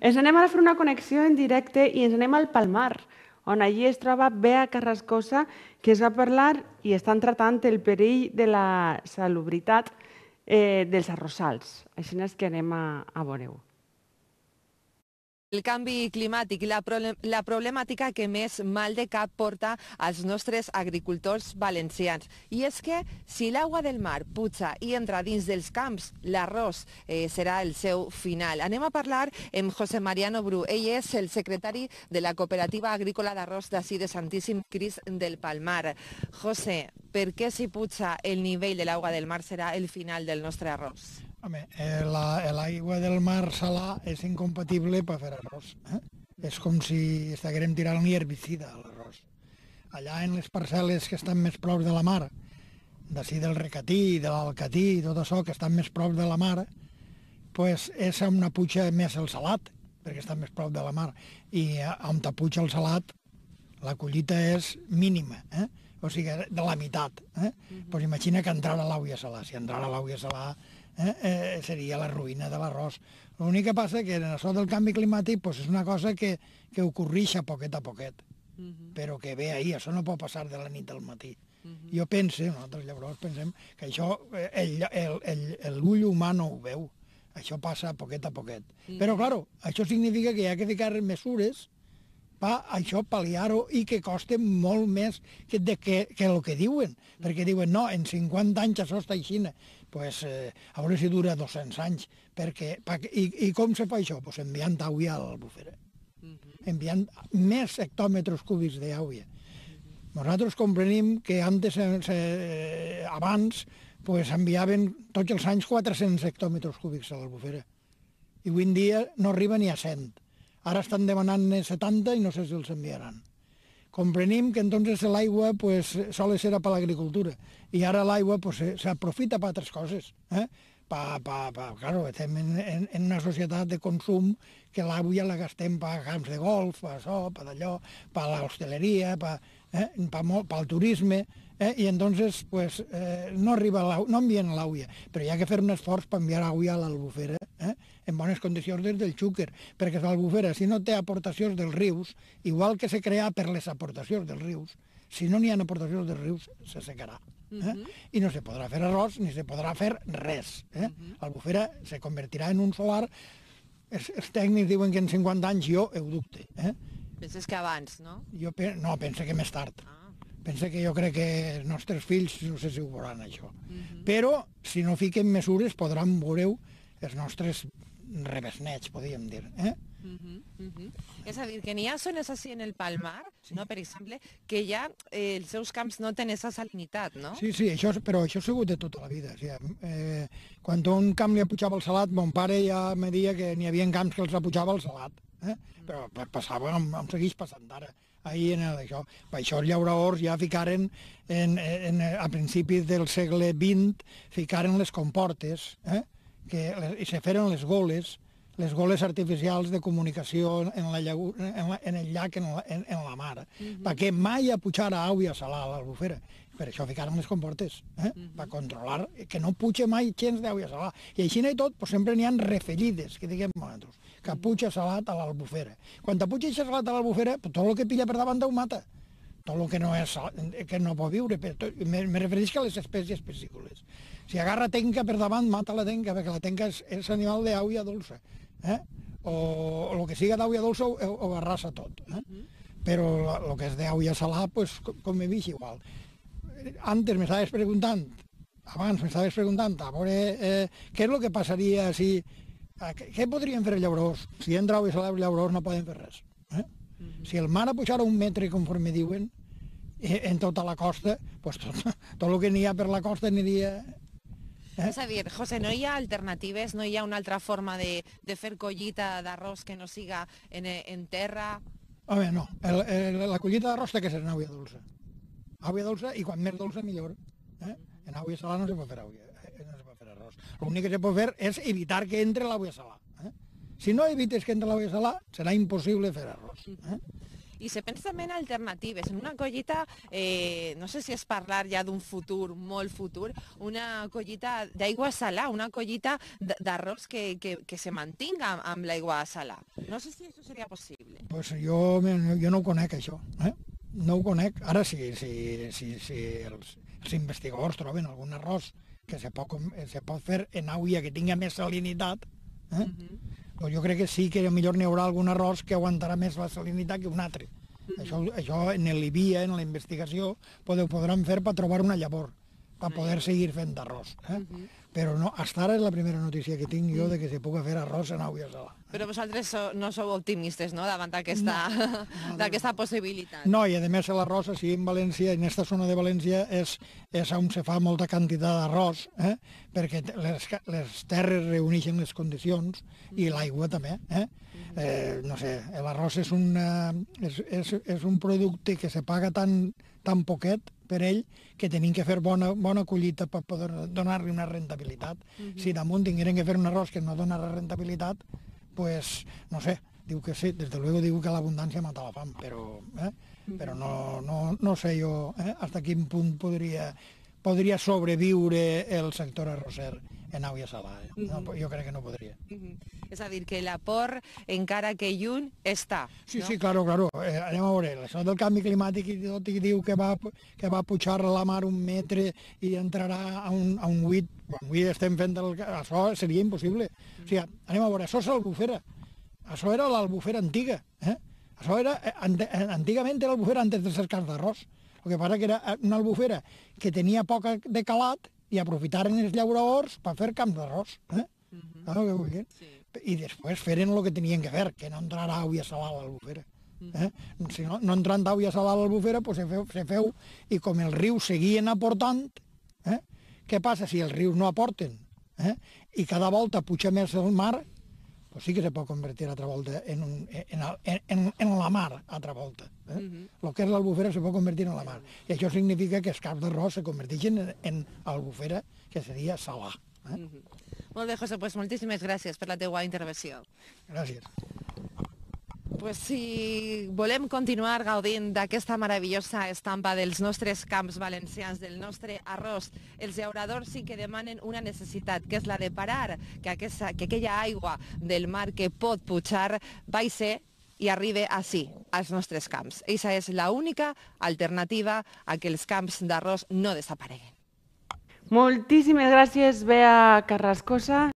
Ens anem a fer una connexió en directe i ens anem al Palmar, on allí es troba Bea Carrascosa, que es va parlar i estan tratant el perill de la salubritat dels arrossals. Així és que anem a veure-ho. El canvi climàtic i la problemàtica que més mal de cap porta als nostres agricultors valencians. I és que si l'aigua del mar puja i entra dins dels camps, l'arròs serà el seu final. Anem a parlar amb José Mariano Bru. Ell és el secretari de la Cooperativa Agrícola d'Arròs d'ací de Santíssim Crist del Palmar. José, per què si puja el nivell de l'aigua del mar serà el final del nostre arròs? Home, l'aigua del mar salà és incompatible per fer arròs. És com si estiguérem tirant-li herbicida a l'arròs. Allà en les parcel·les que estan més prop de la mar, d'ací del Recatí, de l'Alcatí, tot això que estan més prop de la mar, pues és on puja més el salat, perquè està més prop de la mar. I on puja el salat, la collita és mínima, o sigui, de la meitat. Pues imagina que entrara l'aigua salà. Si entrara l'aigua salà, seria la ruïna de l'arròs. L'únic que passa que en això del canvi climàtic pues és una cosa que ocorreix a poquet, però que ve ahir, això no pot passar de la nit al matí. Jo penso, nosaltres llavors pensem que això l'ull humà no ho veu, això passa a poquet. Però, clar, això significa que hi ha que ficar mesures per això pal·liar-ho i que costa molt més que el que diuen, perquè diuen, no, en 50 anys això està així, pues, a veure si dura 200 anys. I com se fa això? Pues enviant aigua a l'Albufera, enviant més hectòmetres cúbics d'aigua. Nosaltres comprenem que abans enviaven tots els anys 400 hectòmetres cúbics a l'Albufera i avui en dia no arriba ni a 100. Ara estan demanant 70 i no sé si els enviaran. Comprenem que entonces l'aigua sol ser per l'agricultura i ara l'aigua s'aprofita per altres coses. Claro, estem en una societat de consum que l'aigua la gastem per camps de golf, per això, per allò, per l'hostaleria, pel turisme, i entonces no envien l'aigua, però hi ha que fer un esforç per enviar aigua a l'Albufera en bones condicions des del Xúquer, perquè l'Albufera, si no té aportacions dels rius, igual que se crea per les aportacions dels rius, si no n'hi ha aportacions dels rius, se secarà. I no se podrà fer arròs ni se podrà fer res. L'Albufera se convertirà en un solar. Els tècnics diuen que en 50 anys jo ho dubte. Penses que abans, no? No, penso que més tard. Penso que jo crec que els nostres fills no sé si ho veuran, això. Però, si no fiquem mesures, podran veure els nostres rebesnets, podríem dir. És a dir, que n'hi ha zones així en el Palmar, per exemple, que ja els seus camps no tenen aquesta salinitat, no? Sí, però això ha sigut de tota la vida. Quan un camp li apujava el salat, mon pare ja me deia que n'hi havia camps que els apujava el salat. Però passava, em segueix passant ara. Per això els llauradors ja ficaren, a principis del segle XX, ficaren les comportes, i se feren les goles artificials de comunicació en el llac, en la mar, perquè mai apujara aigua salà a l'Albufera. Per això ficaren les comportes, per controlar que no puja mai gens d'aigua salà. I així i tot, sempre n'hi ha refellides, que diguem nosaltres, que puja salat a l'Albufera. Quan puja salat a l'Albufera, tot el que pilla per davant ho mata. Tot el que no pot viure. Me refereixo a les espècies piscícoles. Si agarra tenca per davant, mata la tenca, perquè la tenca és animal d'aigua dolça. O el que siga d'aigua dolça ho arrasa tot. Però el que és d'aigua salà, com he vist, igual. Abans m'estaves preguntant, a veure què és el que passaria si... Què podrien fer els llauradors? Si entra aigua salà, els llauradors no poden fer res. Si el mar pujara 1 metre, conforme diuen, en tota la costa, tot el que n'hi ha per la costa aniria... És a dir, José, no hi ha alternatives, no hi ha una altra forma de fer collita d'arròs que no siga en terra? Home, no. La collita d'arròs té que ser en aigua dolça. Aigua dolça, i quan més dolça, millor. En aigua salà no se pot fer arròs. L'únic que se pot fer és evitar que entre l'aigua salà. Si no evites que entre l'aigua salà, serà impossible fer arròs. I se pensa també en alternatives, en una collita, no sé si és parlar ja d'un futur, molt futur, una collita d'aigua salà, una collita d'arròs que se mantinga amb l'aigua salà. No sé si això seria possible. Pues jo no ho conec, això. No ho conec. Ara, si els investigadors troben algun arròs que se pot fer en aigua que tingui més salinitat, doncs jo crec que sí que millor n'hi haurà algun arròs que aguantarà més la salinitat que un altre. Això en l'IBIA, en la investigació, podran fer per trobar una llavor, per poder seguir fent arròs. Però no, fins ara és la primera notícia que tinc jo de que se pugui fer arròs en aigua salà. Però vosaltres no sou optimistes, no?, davant d'aquesta possibilitat. No, i a més l'arròs, així en València, en aquesta zona de València, és on se fa molta quantitat d'arròs, perquè les terres reuneixen les condicions i l'aigua també. No sé, l'arròs és un producte que se paga tan poquet per ell que tenim que fer bona collita per poder donar-li una rentabilitat. Si damunt tingueren que fer un arròs que no dona rentabilitat, pues, no sé, diu que sí, des de luego diu que l'abundància mata la fam, però no sé jo fins a quin punt podria sobreviure el sector arrosser en aigua salada. Jo crec que no podria. És a dir, que l'aport, encara que lluny, està. Sí, claro. Anem a veure, això del canvi climàtic i tot, i diu que va pujar la mar 1 metre i entrarà a un 8. Avui estem fent això, seria impossible. O sigui, anem a veure, això és l'Albufera. Això era l'Albufera antiga. Això era, antigament era l'Albufera antes de ser camps d'arròs. El que passa que era una albufera que tenia poc de calat i aprofitaren els llauradors per fer camps d'arròs. I després feren el que tenien que fer, que no entrarà aigua salada a l'albufera. Si no entrant aigua salada a l'albufera, se feu, i com els rius seguien aportant, què passa si els rius no aporten? I cada volta puja més el mar, pues sí que se pot convertir altra volta en la mar, altra volta. El que és l'albufera se pot convertir en la mar. I això significa que els camps d'arròs se converteixen en albufera, que seria salà. Molt bé, José, pues moltíssimes gràcies per la teua intervenció. Gràcies. Pues si volem continuar gaudint d'aquesta meravellosa estampa dels nostres camps valencians, del nostre arròs, els llauradors sí que demanen una necessitat, que és la de parar, que aquella aigua del mar que pot pujar baixi i arribi així, als nostres camps. Eixa és l'única alternativa a que els camps d'arròs no desapareguen. Moltíssimes gràcies, Bea Carrascosa.